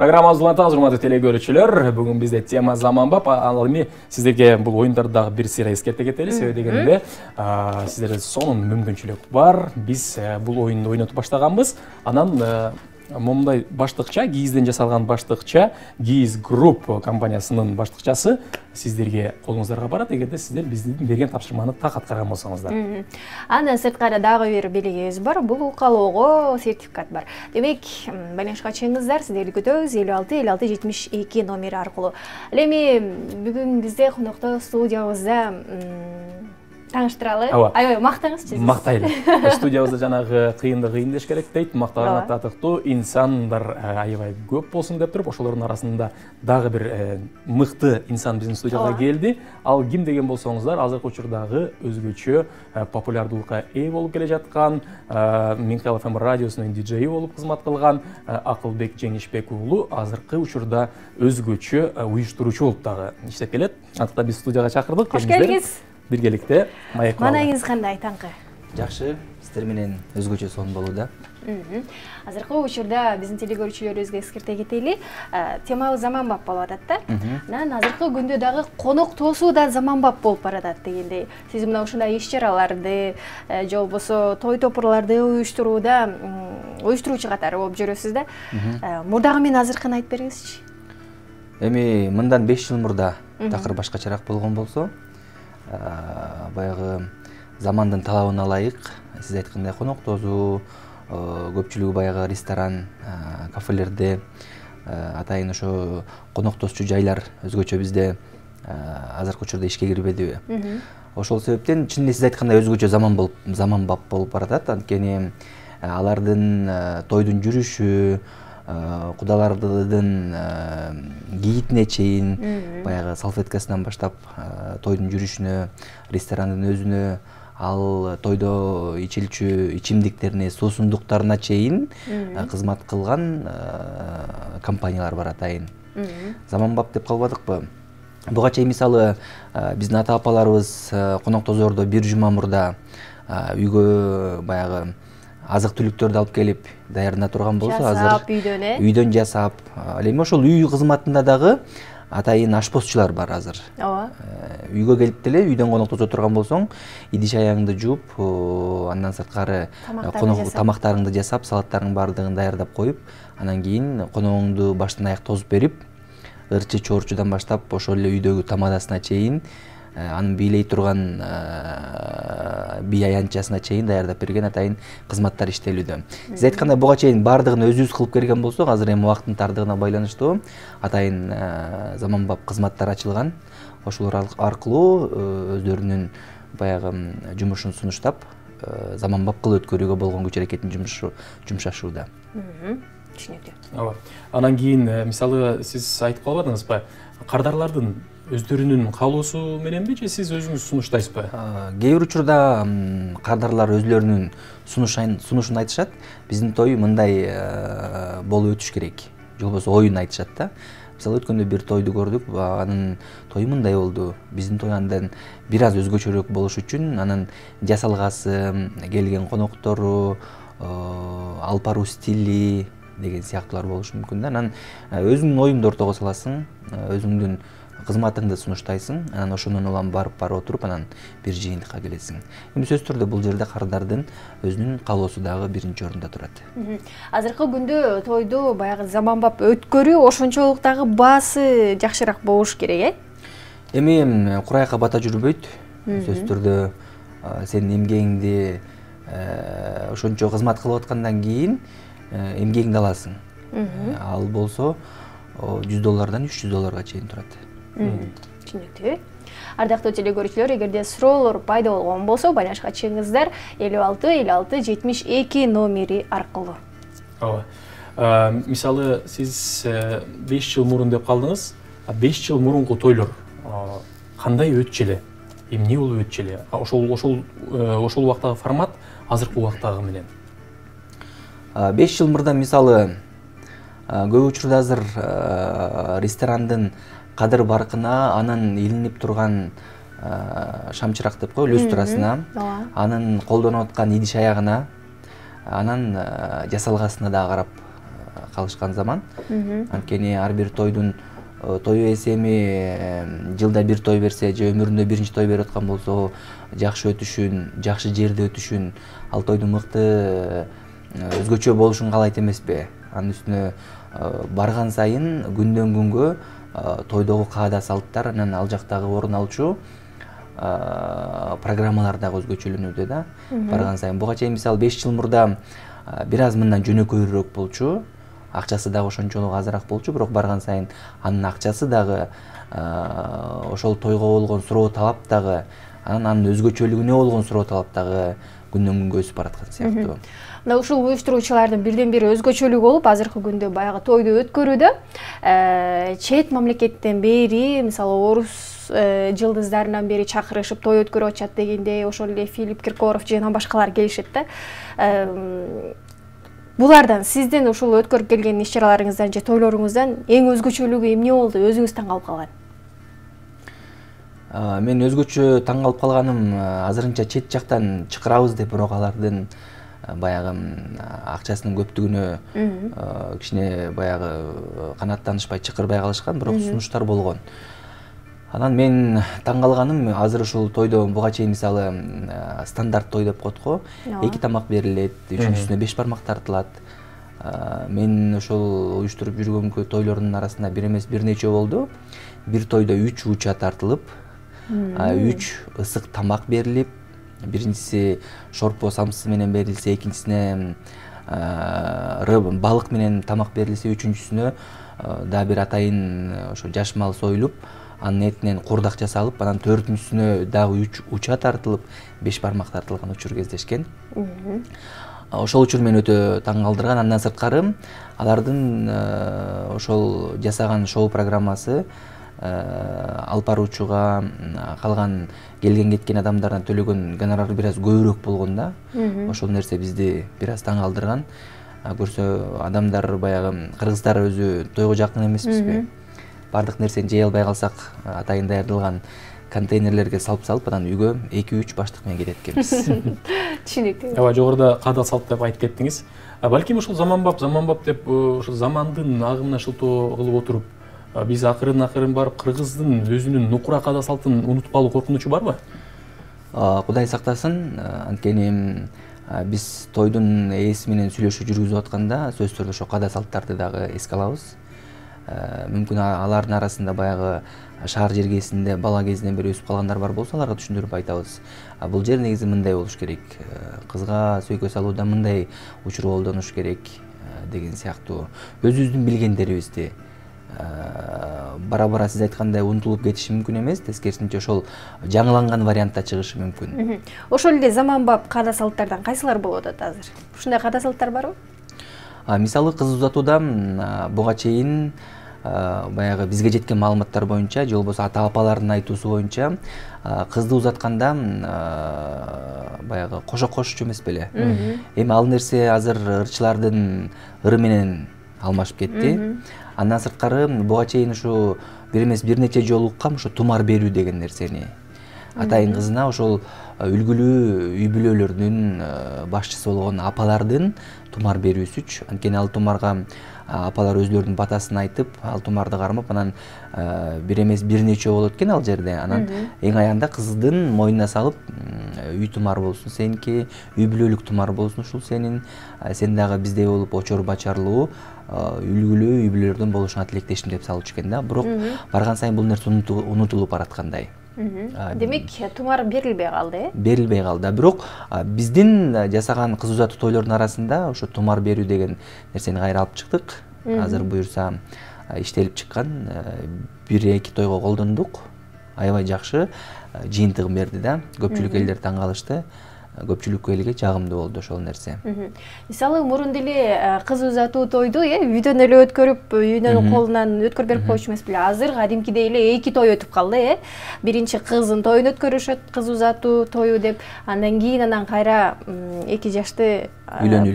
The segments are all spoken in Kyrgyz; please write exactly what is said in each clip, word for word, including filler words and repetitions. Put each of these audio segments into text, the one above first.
Программабызды улантабыз, урматтуу телекөрүүчүлөр. Бүгүн бизде тема заманбап. Ал эми сиздерге бул оюндарды дагы бир сыйра эскерте кетели. Себеби дегенде, сиздерде сонун мүмкүнчүлүк бар. Биз бул оюнду ойнотуп баштаганбыз. Анан момундай баштыкча, гийизден жасалган баштыкча, Гийиз Групп компаниясынын баштыкчасы сиздерге колуңуздарга барат, эгерде сиздер биздин берген тапшырманы так аткарган болсоңуздар. Андан сырткары дагы бир белгибиз бар. Бул каалоого сертификат бар. Демек, байланышка чыгыңыздар, сиздерди күтөбүз элүү алты элүү алты жетимиш эки номери аркылуу. Ал эми бүгүн бизде конокто студиябызда тааныштыралы. Аябай мактаңызчы. Мактайлы. Студиябызда жанагы кыйынды кыйын деш керек дейт. Мактаган татыктуу инсандар аябай көп болсун деп туруп, ошолордун арасында дагы бир мыкты инсан биздин студияга келди. Ал ким деген болсоңуздар, азыркы учурдагы өзгөчө популярдуулукка ээ болуп келе жаткан, Миңкал эф эм радиосунун диджеи болуп кызмат кылган Акылбек Жеңишбек уулу азыркы учурда өзгөчө уюштуруучу болуп дагы иштеп келет. Андыктан биз студияга чакырдык. Кош келдиңиз. Биргеликте маек. Маанайыңыз кандай, таңкы? Жакшы, сиздер менен өзгөчө сонун болууда. Азыркы учурда биздин телекөрүүчүлөрүбүзгө эскерте кетели. Темабыз заманбап болуп атат да. Анан азыркы күндө дагы конок тоосуу да заманбап болуп баратат дегендей. Сиз мына ушундай иш-чараларды, же болбосо той топурларды уюштурууда уюштуруучу катары болуп жүрөсүз да. Мурдагы менен азыркыны айтып бериңизчи. Эми мындан беш жыл мурда такыр башкачараак болгон болсо, баягы замандын талабына ылайык, сиз айткандай конок тоосуу, көпчүлүгү баягы ресторан, кафелерде, атайын ошо конок тоосчу жайлар өзгөчө бизде азыркы учурда ишке кирбедиби? Ошол себептен чын эле сиз айткандай өзгөчө заман болуп, заманбап болуп баратат. Анткени алардын тойдун жүрүшү, кудалардын кийитине чейин, баягы салфеткасынан баштап тойдун жүрүшүнө, ресторандын өзүнө, ал тойдо ичилчү ичимдиктерине, суусундуктарына чейин кызмат кылган компаниялар бар атайын. Заманбап деп калбадыкпы? Буга чейин мисалы биздин ата-апаларыбыз конок тоозордо бир жума мурда үйгө баягы азык-түлүктөрдү алып келип даярдана турган болсо, азыр үйдөн э? Үйдөн жасап, ал эми ошол үй кызматында дагы атайын ашпозчулар бар азыр. Ооба. Үйгө келип деле үйдөн конок тоосо турган болсоң, идиш аяңды жууп, андан сырткары тамактарыңды жасап, салаттарыңдын баардыгын даярдап коюп, анан кийин коногуңду баштан аяк тосуп берип, ырчы чоорчудан баштап ошол эле үйдөгү тамадасына чейин, анын бийлей турган бий аянтчасына чейин даярдап берген атайын кызматтар иштелүүдө. Сиз айткандай буга чейин баардыгын өзүбүз кылып келген болсок, азыр эми убакыттын тардыгына байланыштуу атайын заманбап кызматтар ачылган. Ошолор аркылуу өздөрүнүн баягы жумушун сунуштап, заманбап кылып өткөрүүгө болгон күч аракетин жумшашууда. Түшүнүктүү. Ооба. Анан кийин мисалы сиз айтып калбадыңызбы? Кардарлардын өздөрүнүн каалоосу мененби же сиз өзүңүз сунуштайсызбы? Кээ бир учурда кардарлар өзлөрүнүн сунушун айтышат. Биздин той мындай болуп өтүш керек. Же болбосо оюн айтышат да. Мисалы өткөндө бир тойду көрдүк, анын тою мындай болду. Биздин той андан бир аз өзгөчөрөөк болуш үчүн анын жасалгасы, келген коноктору, алпаруу стили деген сыяктуулар болушу мүмкүн да. Анан өзүңдүн оюңду ортого саласың, өзүңдүн кызматыңды сунуштайсың, анан ошондон улам барып барып отуруп, анан бир жыйынтыкка келесиң. Эми сөзсүз түрдө бул жерде кардардын өзүнүн каалоосу дагы биринчи орунда турат. Азыркы күндө тойду баягы заманбап өткөрүү ошончолук дагы баасы жакшыраак болуш керек, э? Эми курайка бата жүрбөйт. Сөзсүз түрдө сенин эмгегиңди ошончо кызмат кылып аткандан кийин эмгегиңди аласың. Ал болсо жүз доллардан үч жүз долларга чейин турат. Түшүнүктүү. Ардактуу телекөрүүчүлөр, эгерде суроолор пайда болгон болсо, байланышка чыгыңыздар элүү алты элүү алты жетимиш эки номери аркылуу. Ооба. Мисалы сиз беш жыл мурун деп калдыңыз. беш жыл мурунку тойлор кандай өтчү эле? Эмне болуп өтчү эле? Ошол ошол ошол убактагы формат азыркы убактагы менен. беш жыл мурда мисалы көп учурда азыр ресторандын кадыр баркына, анын илинип турган шамчырак деп коелу, люстрасына, анын колдонуп аткан идиш аягына, анан жасалгасына да карап калышкан заман. Анткени ар бир тойдун тою эсеми жылда бир той берсе же өмүрүндө биринчи той берип аткан болсо жакшы өтүшүн, жакшы жерде өтүшүн, ал тойдун мыкты өзгөчө болушун каалайт эмеспи? Анын үстүнө барган сайын күндөн күнгө тойдогу каада салттар анан ал жактагы орун алчу программалар дагы өзгөчөлөнүүдө да. Барган сайын буга чейин мисалы беш жыл мурда бир аз мындан жөнөкөйрөөк болчу, акчасы дагы ошончолук азыраак болчу, бирок барган сайын анын акчасы дагы ошол тойго болгон суроо талап дагы анан анын өзгөчөлүгүнө болгон суроо талап дагы күндөн күнгө өсүп бараткан сыяктуу. Мына ушул уюштуруучулардын бирден бир өзгөчөлүгү болуп, азыркы күндө баягы тойду өткөрүүдө чет мамлекеттен бери, мисалы орус жылдыздарынан бери чакырышып той өткөрүп атышат дегенде, ошол эле Филипп Киркоров жана башкалар келишет да. Булардан сиздин ушул өткөрүп келген иш-чараларыңыздан же тойлоруңуздан эң өзгөчөлүгү эмне болду? Өзүңүз таң калып калган? Мен өзгөчө таң калып калганым азырынча чет жактан чакырабыз деп, бирок алардын баягы акчасынын көптүгүнө кичине баягы канааттанышпай чакырбай калышкан, бирок сунуштар болгон. Анан мен таң калганым азыр ушул тойдо буга чейин мисалы стандарт той деп коет го, эки тамак берилет, үчүнчүсүнө беш бармак тартылат. Мен ошол уюштуруп жүргөнкү тойлордун арасында бир эмес бир нече болду. Бир тойдо үч уча тартылып, үч ысык тамак берилип, биринчиси шорпо самсы менен берилсе, экинчисине балык менен тамак берилсе, үчүнчүсүнө дагы бир атайын ошо жаш мал союлуп, анын этинен курдак жасалып, анан төртүнчүсүнө дагы үч уча тартылып, беш бармак тартылган учур кездешкен. Ошол учур мени өтө таң калтырган. Андан сырткары алардын ошол жасаган шоу программасы алып баруучуга, калган келген кеткен адамдардан төлөгөн гонорар бир аз көбүрөөк болгон да. Ошол нерсе бизди бир аз таң калтырган. Көрсө адамдар баягы кыргыздар өзү тойго жакын эмеспизби? Бардык нерсени жей албай калсак, атайын даярдалган контейнерлерге салып салып, анан үйгө эки үч баштык менен кетет экенбиз. Түшүнүктүү. Ооба, жогоруда каада салт деп айтып кеттиңиз. Балким ушул заманбап, заманбап деп ушул замандын агымына шылтоо кылып отуруп, биз акырын акырын барып кыргыздын өзүнүн нукура каада салтын унутуп калуу коркунучу барбы? Кудай сактасын. Анткени биз тойдун ээси менен сүйлөшүү жүргүзүп атканда сөзсүз түрдө ошо каада салттарды дагы эске алабыз. Мүмкүн алардын арасында баягы шаар жергесинде бала кезинен бери өсүп калгандар бар болсо, аларга түшүндүрүп айтабыз. Бул жер негизи мындай болуш керек, кызга сөйкө салууда мындай учур колдонуш керек деген сыяктуу өзүбүздүн билгендерибизди бара-бара сиз айткандай унутулуп кетиши мүмкүн эмес, тескерисинче ошол жаңыланган вариантта чыгышы мүмкүн. Ошол эле заманбап каада салттардан кайсылар болуп атат азыр? Ушундай каада салттар барбы? Мисалы кыз узатууда буга чейин баягы бизге жеткен маалыматтар боюнча, же болбосо ата-апалардын айтуусу боюнча, кызды узатканда баягы кошо кошчу эмес беле. Эми ал нерсе азыр ырчылардын ыры менен алмашып кетти. Андан сырткары буга чейин ушу бир эмес бир нече жолу уккам ушу тумар берүү деген нерсени. Атайын кызына ошол үлгүлүү үй бүлөлөрдүн башчысы болгон апалардын тумар берүүсүчү. Анткени ал тумарга апалар өзлөрүнүн батасын айтып, ал тумарды кармап, анан бир эмес бир нече болот экен ал жерде. Анан эң аягында кыздын мойнуна салып, үй тумар болсун сеники, үй бүлөлүк тумар болсун ушул сенин, сен дагы биздей болуп очор бачарлуу, үлгүлүү үй бүлөлөрдөн болушуңа тилектешим деп салчу экен да. Бирок барган сайын бул нерсе унутулуп бараткандай. Демек, тумар берилбей калды, э? Берилбей калды. Бирок биздин жасаган кыз узатуу тойлордун арасында ошо тумар берүү деген нерсени кайра алып чыктык. Азыр буюрса иштелип чыккан, бир эки тойго колдондук. Аябай жакшы жыйынтыгын берди да. Көпчүлүк элдер таң калышты. Көпчүлүк элге жагымдуу болду ошол нерсе. Мисалы мурун деле кыз узатуу тойду э үйдөн эле өткөрүп, үйдөн колунан өткөрүп берип коюшу эмес беле. Азыр кадимкидей эле эки той өтүп калды, э. Биринчи кыздын тоюн өткөрүшөт, кыз узатуу тою деп, андан кийин анан кайра эки жашты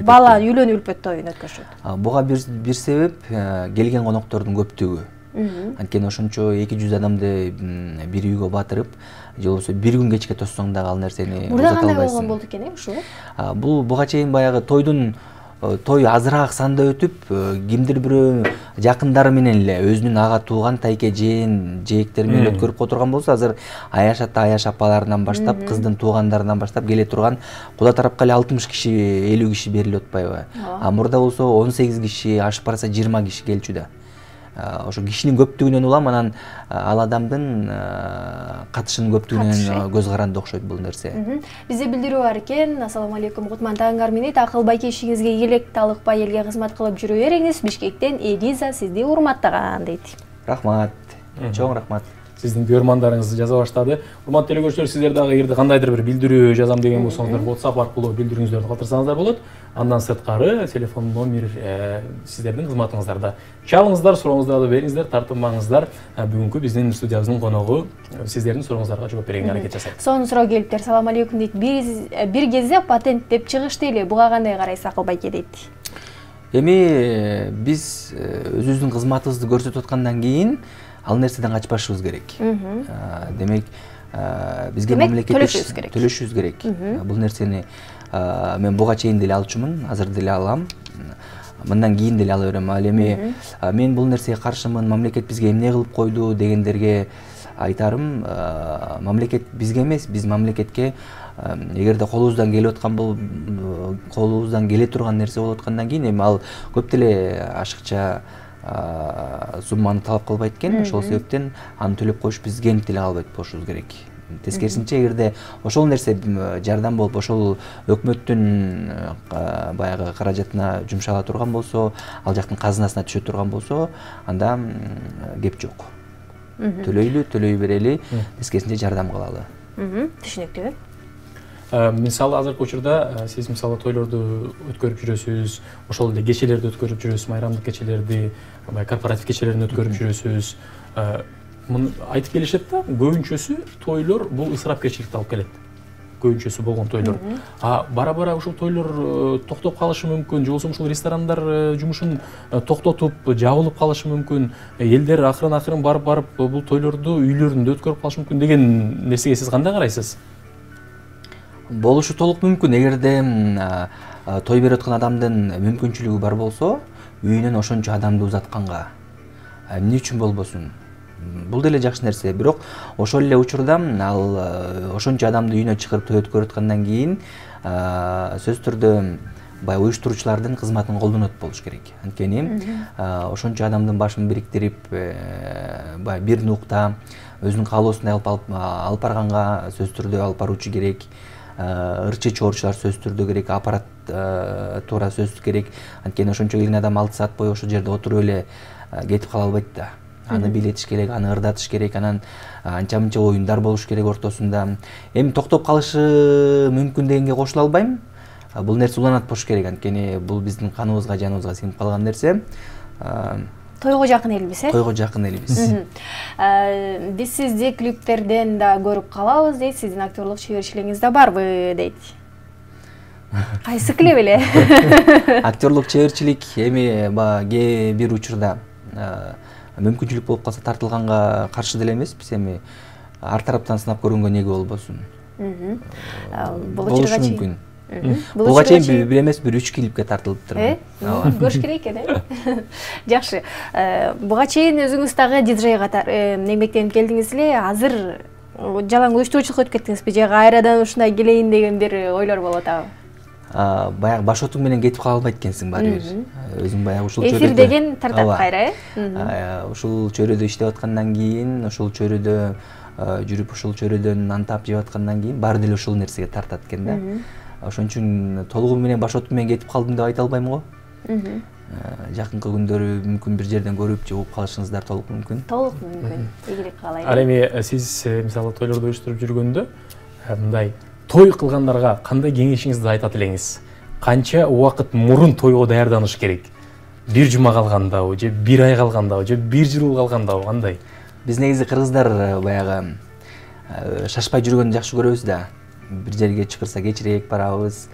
бала үйлөнүү үлпөт тоюн өткөрүшөт. Буга бир себеп келген коноктордун көптүгү. Анткени ошончо эки жүз адамды бир үйгө батырып, же болбосо бир күн кечке тоссоң дагы ал нерсени узата албайсың. Мурда кандай болгон болду экен, э, ушул? Бул буга чейин баягы тойдун той азыраак санда өтүп, кимдир бирөө жакындары менен эле өзүнүн ага тууган тайкежен, жээктери менен өткөрүп отурган болсо, азыр аяш ата, аяш апаларынан баштап, кыздын туугандарынан баштап келе турган кула тарапка эле алтымыш киши, элүү киши берилип атпайбы? А мурда болсо он сегиз киши, ашып барса жыйырма киши келчү да. Ошо кишинин көптүгүнөн улам анан ал адамдын катышынын көптүгүнөн көз каранды окшойт бул нерсе. Бизде билдирүү бар экен. Ассаламу алейкум, Кутман таңыңар менен акыл байкешиңизге ийгилик, талыкпай элге кызмат кылып жүрө бериңиз. Бишкектен Элиза сизди урматтаган дейт. Рахмат. Чоң рахмат. Сиздин көрмандарыңызды жаза баштады. Урматтуу телекөрүүчүлөр, сиздер дагы эгерде кандайдыр бир билдирүү жазам деген болсоңуздар, WhatsApp аркылуу билдирүүңүздөрдү калтырсаңыздар болот. Андан сырткары телефон номер сиздердин кызматыңыздарда. Чалыңыздар, сурооңуздарды бериңиздер, тартынбаңыздар. Бүгүнкү биздин студиябыздын коногу сиздердин сурооңуздарга жооп берүүгө аракет жасайт. Сонун суроо келиптир. Салам алейкум дейт. Бир кезде патент деп чыгышты эле. Буга кандай карайсыз Акыл байке дейт. Эми биз өзүбүздүн кызматыбызды көрсөтүп аткандан кийин ал нерседен качпашыбыз керек. Демек, бизге мамлекеттик төлөшүбүз керек. Бул нерсени мен буга чейин деле алчумун, азыр деле алам. Мындан кийин деле ала берем. Ал эми мен бул нерсеге каршымын, мамлекет бизге эмне кылып койду дегендерге айтарым, мамлекет бизге эмес, биз мамлекетке эгерде колубуздан келип аткан бул колубуздан келе турган нерсе болуп аткандан кийин эми ал көп деле ашыкча сумманы талап кылбайт экен. Ошол себептен аны төлөп коюш бизге деле калбайт болушубуз керек. Тескерисинче, эгерде ошол нерсе жардам болуп, ошол өкмөттүн баягы каражатына жумшала турган болсо, ал жактын казынасына түшө турган болсо, анда кеп жок. Төлөйлү, төлөй берели, тескерисинче жардам кылалы. Түшүнүктүү. Мисалы азыркы учурда сиз мисалы тойлорду өткөрүп жүрөсүз, ошол эле кечелерди өткөрүп жүрөсүз, майрамдык кечелерди, корпоратив кечелерин өткөрүп жүрөсүз. Муну айтып келишет да, көбүнчөсү тойлор бул ысырапкерчиликти алып келет. Көбүнчөсү болгон тойлор. А бара-бара ушул тойлор токтоп калышы мүмкүн, же болбосо ушул ресторандар жумушун токтотуп, жабылып калышы мүмкүн, элдер акырын-акырын барып-барып бул тойлорду үйлөрүндө өткөрүп калышы мүмкүн деген нерсеге сиз кандай карайсыз? Болушу толук мүмкүн. Эгерде той берип аткан адамдын мүмкүнчүлүгү бар болсо, үйүнөн ошончо адамды узатканга эмне үчүн болбосун? Бул деле жакшы нерсе. Бирок ошол эле учурда ал ошончо адамды үйүнө чыгарып той өткөрүп аткандан кийин сөзсүз түрдө баягы уюштуруучулардын кызматын колдонот болуш керек. Анткени ошончо адамдын башын бириктирип, баягы бир нукта өзүнүн каалоосундай алып барганга сөзсүз түрдө алып баруучу керек. Ырчы чоорчулар сөзсүз түрдө керек, аппарат туура сөзсүз керек. Анткени ошончо келген адам алты саат бою ошол жерде отуруп эле кетип кала албайт да. Аны билетиш керек, аны ырдатыш керек, анан анча-мынча оюндар болуш керек ортосунда. Эми токтоп калышы мүмкүн дегенге кошула албайм. Бул нерсе уланат болуш керек, анткени бул биздин каныбызга, жаныбызга сиңип калган нерсе. Тойго жакын элбиз, э? Тойго жакын элбиз. Биз сизди клиптерден да көрүп калабыз дейт, сиздин актерлук чеберчилигиңиз да барбы дейт. Кайсы клип эле? Актерлук чеберчилик эми кээ бир учурда мүмкүнчүлүк болуп калса тартылганга каршы деле эмеспиз. Эми ар тараптан сынап көргөнгө неге болбосун? Болушу мүмкүн. Буга чейин бир эмес, бир үч клипке тартылыптыр. Көрүш керек экен, э? Жакшы. Буга чейин өзүңүз дагы диджей катары эмгектенип келдиңиз эле. Азыр жалаң уюштуруучулукка өтүп кеттиңизби же кайрадан ушундай келейин деген бир ойлор болуп атабы? Баягы баш отуң менен кетип кала албайт экенсиң баары бир. Өзүң баягы ушул чөйрөдө. Эфир деген тартат кайра, э? Ушул чөйрөдө иштеп аткандан кийин, ушул чөйрөдө жүрүп, ушул чөйрөдөн нан таап жеп аткандан кийин баары деле ушул нерсеге тартат экен да. Ошон үчүн толугу менен баш отум менен кетип калдым деп айта албайм го. Жакынкы күндөрү мүмкүн бир жерден көрүп же угуп калышыңыздар толук мүмкүн. Толук мүмкүн. Ийгилик каалайм. Ал эми сиз мисалы тойлорду уюштуруп жүргөндө мындай той кылгандарга кандай кеңешиңизди айтат элеңиз? Канча убакыт мурун тойго даярданыш керек? Бир жума калгандабы, же бир ай калгандабы, же бир жыл калгандабы, кандай? Биз негизи кыргыздар баягы шашпай жүргөндү жакшы көрөбүз да. Бир жерге чакырса кечирээк барабыз.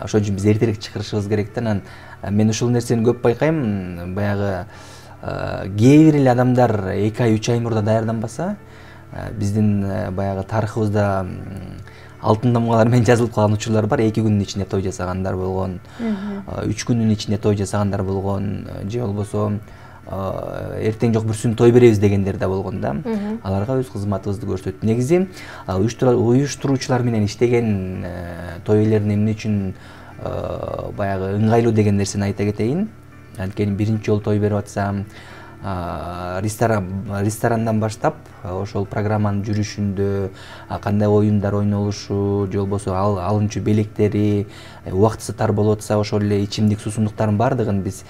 Ошон үчүн биз эртерээк чакырышыбыз керек да. Анан мен ушул нерсени көп байкайм. Баягы кээ бир эле адамдар эки ай, үч ай мурда даярданбаса, биздин баягы тарыхыбызда алтын тамгалар менен жазылып калган учурлар бар. эки күндүн ичинде той жасагандар болгон, үч күндүн ичинде той жасагандар болгон, же болбосо эртең жок бүрсүн той беребиз дегендер да болгон да. Аларга өз кызматыбызды көрсөттүк. Негизи уюштуруучулар менен иштеген той ээлерин эмне үчүн баягы ыңгайлуу деген нерсени айта кетейин. Анткени биринчи жолу той берип атсам, ресторандан баштап ошол программанын жүрүшүндө кандай оюндар ойнолушу, же болбосо алынчу белектери, убактысы тар болуп атса ошол эле ичимдик суусундуктардын баардыгын биз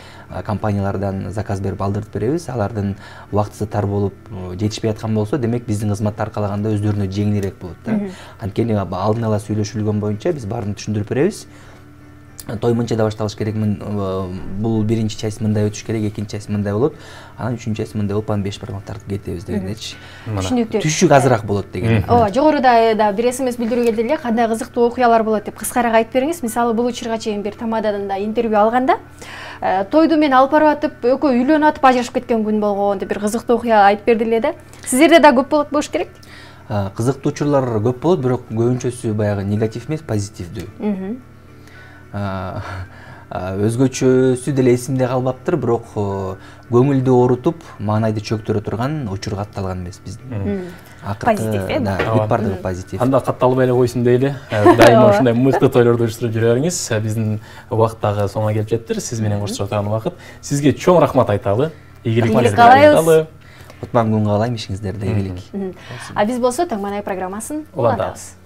компаниялардан заказ берип алдырып беребиз. Алардын убактысы тар болуп жетишпей аткан болсо, демек биздин кызматты аркалаганда өздөрүнө жеңилирээк болот да. Анткени алдын ала сүйлөшүлгөн боюнча биз баарын түшүндүрүп беребиз. Той мынча да башталыш керек, бул биринчи часть мындай өтүш керек, экинчи часть мындай болот, анан үчүнчү часть мындай болуп, анан беш бармак тартып кетебиз дегендечи. Түшүнүктүү. Түшүк азыраак болот деген. Ооба, жогоруда да бир смс билдирүү келди эле, кандай кызыктуу окуялар болот деп кыскараак айтып бериңиз. Мисалы, бул учурга чейин бир тамададан да интервью алганда, тойду мен алып барып атып, экөө үйлөнүп атып ажырашып кеткен күн болгон деп бир кызыктуу окуя айтып берди эле да. Сиздерде да көп болот болуш керек? Кызыктуу учурлар көп болот, бирок көбүнчөсү баягы негатив эмес, позитивдүү. Өзгөчөсү деле эсимде калбаптыр, бирок көңүлдү оорутуп, маанайды чөктүрө турган учур катталган эмес биздин. Позитив, э? Бүт бардыгы позитив. Анда катталбай эле койсун дейли. Дайыма ушундай мыкты тойлорду уюштуруп жүрө бериңиз. Биздин убакыт дагы соңуна келип жетти. Сиз менен коштошо турган убакыт. Сизге чоң рахмат айталы. Ийгилик каалайбыз. Утман күн каалайм, ишиңиздерде ийгилик. А биз болсо Таңман ай программасын улантабыз.